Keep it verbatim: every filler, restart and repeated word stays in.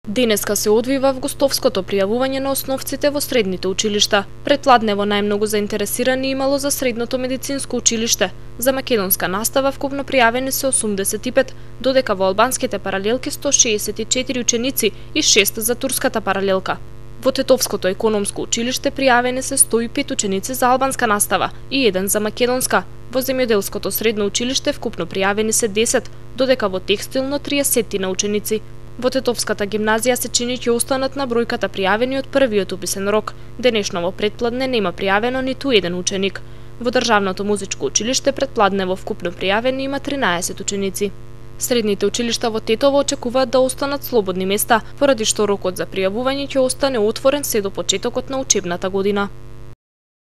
Денеска се одвива августовското пријавување на основците во средните училишта. Предпладнево најмногу заинтересирани имало за средното медицинско училиште. За македонска настава вкупно пријавени се осумдесет и пет, додека во албанските паралелки сто шеесет и четири ученици и шест за турската паралелка. Во Тетовското економско училиште пријавени се сто и пет ученици за албанска настава и еден за македонска. Во земјоделското средно училиште вкупно пријавени се десет, додека во текстилно триесет на ученици. Во Тетовската гимназија се чини ќе останат на бројката пријавени од првиот уписен рок. Денешно во предпладне нема пријавено ниту еден ученик. Во Државното музичко училиште предпладнево вкупно пријавени има тринаесет ученици. Средните училишта во Тетово очекуваат да останат слободни места, поради што рокот за пријавување ќе остане отворен се до почетокот на учебната година.